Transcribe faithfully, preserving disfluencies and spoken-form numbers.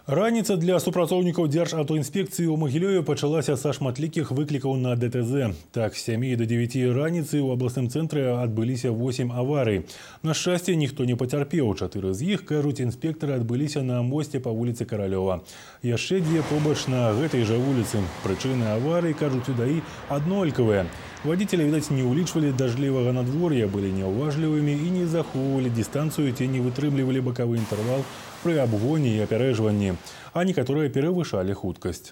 Раніца для супрацоўнікаў Дзяржаўтаінспекцыі ў Магілёве пачалася са шматлікіх выклікаў на дэ тэ зэ. Так, з сямі да дзевяці раніцы ў абласным цэнтры адбыліся восем аварый. На шчасце, ніхто не пацярпеў. Чатыры з іх, кажуць інспектары, адбыліся на мосце па вуліцы Каралёва. Яшчэ дзве побач на гэтай жа вуліцы. Прычыны аварый, кажуць у ДАІ, аднолькавыя. Водители, видать, не улічвалі дажджлівага надвор'я, былі няўважлівымі і не захоўвалі дыстанцыю ці не вытрымлівалі бакавы інтэрвал пры абгоне і апярэжванні, а некаторыя перавышалі хуткасць.